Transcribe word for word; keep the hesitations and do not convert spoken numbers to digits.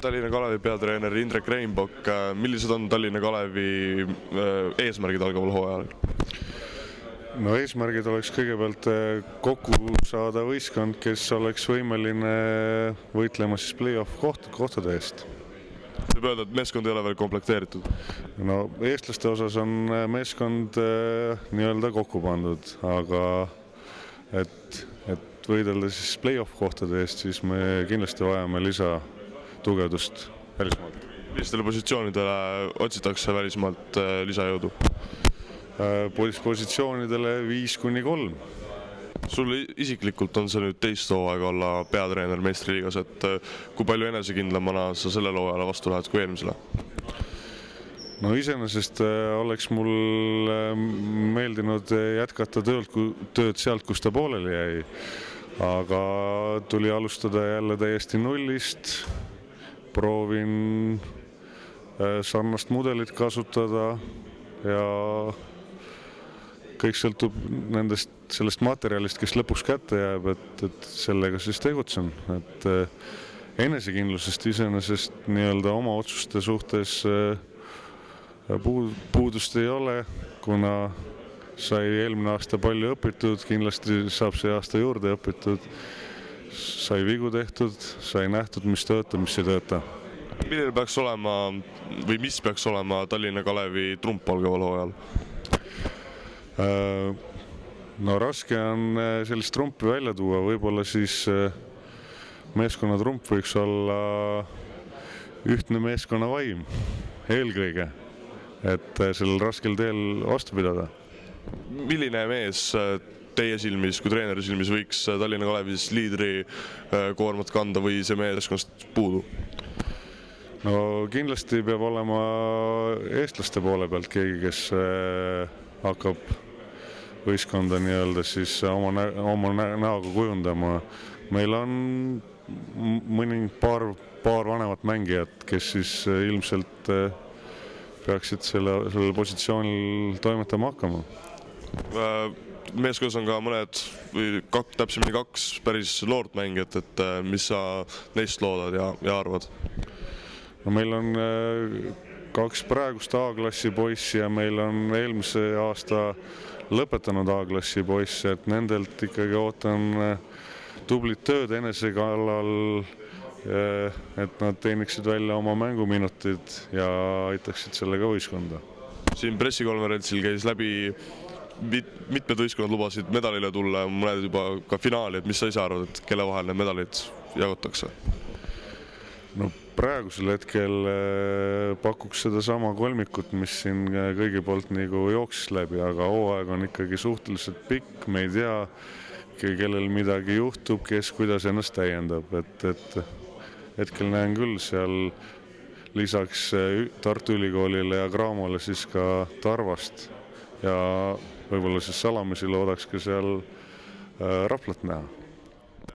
Tallinna Kalevi peatreener Indrek Reinbok, millised on Tallinna Kalevi eesmärgid algaval hooajal? No eesmärgid oleks kõigepealt kokku saada võistkond, kes oleks võimeline võitlema siis play-off koht, kohtade eest. Võib öelda, et meeskond ei ole veel komplekteeritud? No eestlaste osas on meeskond nii-öelda kokku pandud, aga et, et võidelda siis play-off kohtade eest, siis me kindlasti vajame lisa tugevdust välismaalt. Millistele positsioonidele otsitakse välismaalt lisajõudu? Positsioonidele viis kuni kolm. Sul isiklikult on see nüüd teist hooaega olla peatreener meistriliigas, et kui palju enesekindlamana sa sellele hooajale vastu lähed kui eelmisele? No iseenesest oleks mul meeldinud jätkata tööd, tööd sealt, kus ta pooleli jäi, aga tuli alustada jälle täiesti nullist. Proovin sarnast mudelit kasutada ja kõik sõltub nendest, sellest materjalist, kes lõpuks kätte jääb, et, et sellega siis tegutsen. Et enesekindlusest iseenesest nii-öelda oma otsuste suhtes puudust ei ole, kuna sai eelmine aasta palju õpitud, kindlasti saab see aasta juurde õpitud, sai vigu tehtud, sai nähtud, mis töötab, mis ei tööta. Milline peaks olema või mis peaks olema Tallinna Kalevi trump algaval hooajal? No raske on sellist trumpi välja tuua, võib-olla siis meeskonna trump võiks olla ühtne meeskonna vaim eelkõige, et sellel raskel teel vastu pidada. Milline mees teie silmis, kui treeneri silmis võiks Tallinna Kalevis liidri koormat kanda või see meeskonnast puudu? No kindlasti peab olema eestlaste poole pealt keegi, kes hakkab võistkonda nii-öelda siis oma, nä oma näoga kujundama. Meil on mõni paar, paar vanemat mängijat, kes siis ilmselt peaksid selle, sellel positsioonil toimetama hakkama. Meeskonnas on ka mõned, või kak, täpsemini kaks päris loort mängijat, et mis sa neist loodad ja, ja arvad? No meil on kaks praegust A-klassi poissi ja meil on eelmise aasta lõpetanud A-klassi poissi, et nendelt ikkagi ootan tublit tööd enesekallal, et nad teeniksid välja oma mänguminutid ja aitaksid sellega võistkonda. Siin pressikonverentsil käis läbi mitmed võistkonnad lubasid medalile tulla, mõned juba ka finaali, et mis sa ise arvad, et kelle vahel need medalid jagutakse? No praegusel hetkel pakuks seda sama kolmikut, mis siin kõigi poolt nagu jooksis läbi, aga hooaeg on ikkagi suhteliselt pikk, me ei tea, kellel midagi juhtub, kes kuidas ennast täiendab, et, et hetkel näen küll seal lisaks Tartu Ülikoolile ja Cramole siis ka Tarvast ja võib-olla siis salamisi loodaks ka seal Raplat näha.